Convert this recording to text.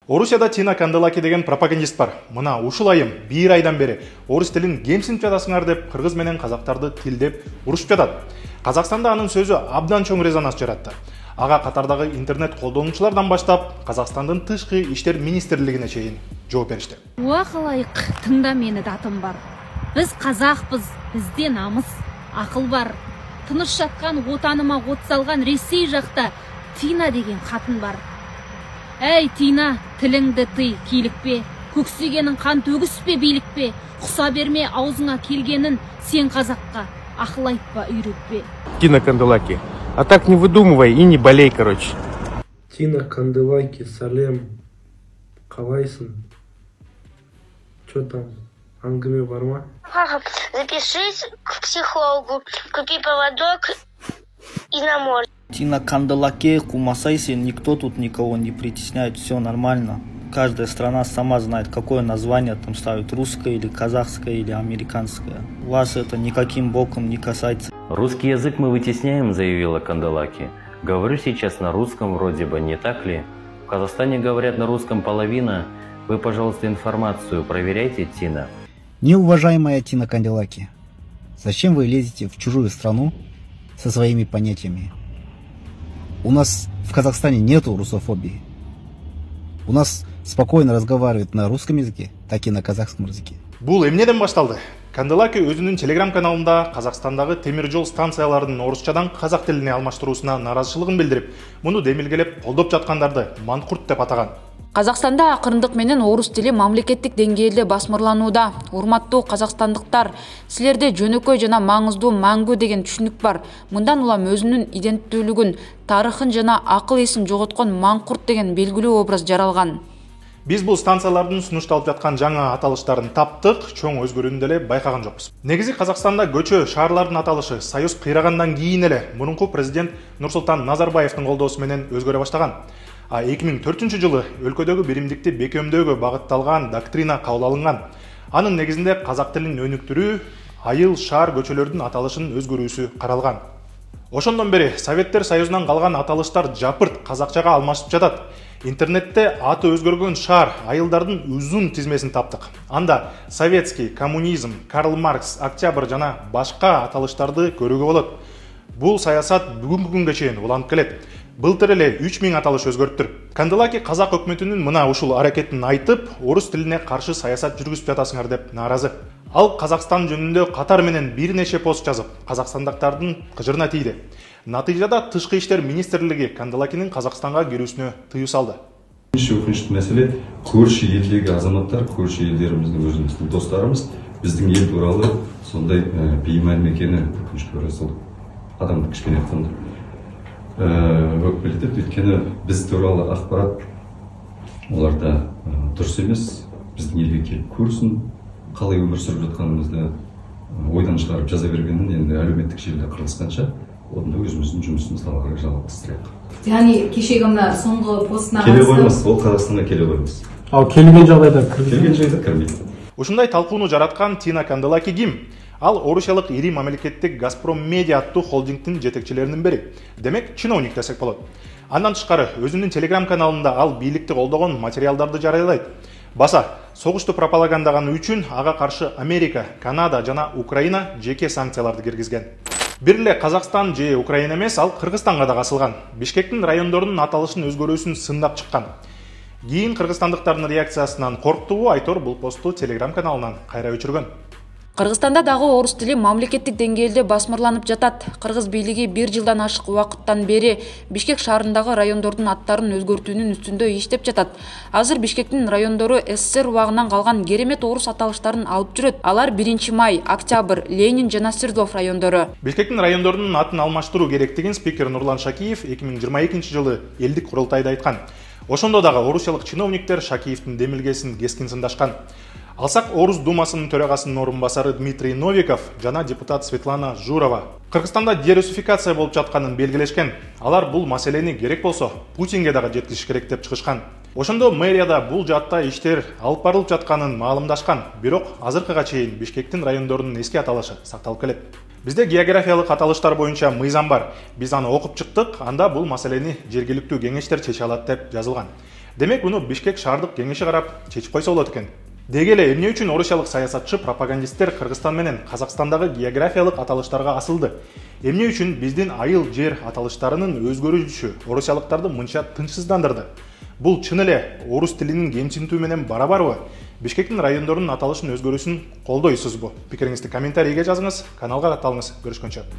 Орусияда Тина Канделаки деген пропагандист бар. Мына ушул айым 1 айдан бери орус тилин кемсинтип жатасыңар деп кыргыз менен казактарды тилдеп урушуп жатат. Казакстанда анын сөзү абдан чоң резонанс жаратты. Ага катардагы интернет колдонуучулардан баштап Казакстандын тышкы иштер министрлигине чейин жооп беришти. Уа калайык, тыңда мени датым бар. Биз казакпыз, бизде намыс, акыл бар. Тыныш жаткан отаныма от салган Ресей жакта Тина деген катын бар. Эй, Тина, тилиңди тый, кийликпе, көксөгенин кан төгүспе, бийликпе, куса берме аузуңа келгенин, сен казакка акыл айтпа, үйрөтпе. Тина Канделаки, а так не выдумывай и не болей, короче. Тина Канделаки, салем, калайсың? Чё там, аңгыме бар ма? Запишись к психологу, купи поводок и на море. Тина Канделаки, кумасайся, никто тут никого не притесняет, все нормально. Каждая страна сама знает, какое название там ставит, русское или казахское или американское. Вас это никаким боком не касается. Русский язык мы вытесняем, заявила Канделаки. Говорю сейчас на русском вроде бы, не так ли? В Казахстане говорят на русском половина. Вы, пожалуйста, информацию проверяйте, Тина. Неуважаемая Тина Канделаки, зачем вы лезете в чужую страну со своими понятиями? У нас в Казахстане нету русофобии. У нас спокойно разговаривают на русском языке, так и на казахском языке. Бул эмнеден башталды? Канделаки өзүнүн телеграм-каналында Казакстандагы темир жол станцияларынын орусчадан казак тилине алмаштыруусуна нааразычылыгын билдирип, муну демилгелеп колдоп жаткандарды манкурт деп атаган. Казакстанда акырындык менен орус тили мамлекеттик деңгээлде басмырланууда. Урматтуу казакстандыктар, силерде жөнөкөй жана маңыздуу маңгу деген түшүнүк бар. Мындан улам өзүнүн иденттүүлүгүн, тарыхын жана акыл эсин жоготкон маңкурт деген белгилүү образ жаралган. Биз бул станциялардын сунушталып жаткан жаңа аталыштарын таптык, чоң өзгөрүүнү деле байкаган жокпуз. Негизи Казакстанда көчө, шаарлардын аталышы Союз кыйрагандан кийин эле мурунку президент Нурсултан Назарбаевдин колдоосу менен өзгөрө баштаган. 2004 жылы өлкөдөгү биримдикти бекемдөөгө багытталган доктрина кабыл алынган. Анын негизинде казак тилин өнүктүрүү, айыл, шаар, көчөлөрдүн аталышын өзгөрүүсү каралган. Ошондон бери Советтер Союзунан калган аталыштар жапырт казакчага алмашып жатат. Интернетте аты өзгөргөн шаар, айылдардын узун тизмесин таптык. Анда советский, коммунизм, Карл Маркс, Октябрь жана башка аталыштарды көрүүгө болот. Бул саясат бүгүнкү күнгө чейин уланып келет. Былтыр эле 3000 аталыш өзгөрттүр. Канделаки казак өкмөтүнүн мына ушул аракетин айтып, орус тилине каршы саясат жүргүзүп жатасыңар деп нааразы. Ал Казакстан жөнүндө катар менен бир нече пост жазып, казакстандыктардын кыжырына тийди. Натыйжада тышкы иштер министрлиги Канделакинин Казакстанга кирүүсүнө тыюу салды. Өкүнүчтүү маселе, көршү элдеги азаматтар, көршү элдеримиздин өзүбүздүн досторубуз биздин эл тууралуу сондай беймаани экени өкүнүчтүү расыл. Адамды кичине айтканда өкпелетет, өйткені біз туралы ақпарат оларда дұрыс емес, біздің елге келіп көрсін, қалай өмір сүріп жатқанымызды ойдан шығарып жаза бергеннен енді әлеуметтік желіде қырылысқанша, онда өзіміздің жұмысымызды ары қарай жалғастырайық. Яғни кешегі мына соңғы постына келе қоймас, ол Қазақстанға келе қоймас. Ал келген жағдайда кірмейді. Ушундай талкууну жараткан Тина Канделаки ким? Ал орусиялык ири мамлекеттик Газпром Медиа аттуу холдингдин жетекчилеринин бири. Демек, чиновник десек болот. Андан тышкары өзүнүн телеграм-каналында ал бийликти колдогон материалдарды жарыялайт. Баса, согушту пропагандаганы үчүн ага каршы Америка, Канада жана Украина жеке санкцияларды киргизген. Бир эле Казакстан же Украина эмес, ал Кыргызстанга да касылган. Бишкектин райондорунун аталышын өзгөрүүсүн сындап чыккан. Кийин кыргызстандыктардын реакциясынан корктубу, Айтор бул посту телеграм-каналынан кайра өчүргөн. Кыргызстанда дагы орус тили мамлекеттик деңгээлде басмырланып жатат. Кыргыз бийлиги 1 жылдан ашык убакыттан бери Бишкек шаарындагы райондордун аттарын өзгөртүүнүн үстүндө иштеп жатат. Азыр Бишкектин райондору СССР убагынан калган керемет орус аталыштарын алып жүрөт. Алар 1 май, Октябрь, Ленин жана Свердлов райондору. Бишкектин райондорунун атын алмаштыруу керектигин спикер Нурлан Шакиев 2022 жылы элдик курултайда айткан. Ошондо дагы орусиялык чиновниктер Шакиевдин демилгесин кескин сындашкан. Алсак Орус Думасынын төрагасынын орун басары Дмитрий Новиков жана депутат Светлана Журова Кыргызстанда дерусификация болуп жатканын белгилешкен. Алар бул маселени керек болсо Путинге дагы жеткизиш керек деп чыгышкан. Ошондо мэрияда бул жаатта иштер алып барылып жатканын маалымдашкан. Бирок азыркыга чейин Бишкектин райондорунун эски аталышы сакталып келет. Бизде географиялык аталыштар боюнча мыйзам бар. Биз аны окуп чыктык, анда бул маселени жергиликтүү кеңештер чече алат деп жазылган. Демек муну Бишкек шаардык кеңеши карап чечип койсо болот экен. Деги эле эмне үчүн орусиялык саясатчы пропагандисттер Кыргызстан менен Казакстандагы географиялык аталыштарга асылды? Эмне үчүн биздин айыл жер аталыштарынын өзгөрүшү орусиялыктарды мынча тынчсыздандырды? Бул чын эле орус тилинин кемсинтүү менен барабарбы? Бишкектин райондорунун аталышын өзгөрүүсүн колдойсузбу? Пикириңизди комментарийге жазыңыз, каналга катталыңыз. Көрүшкөнчө.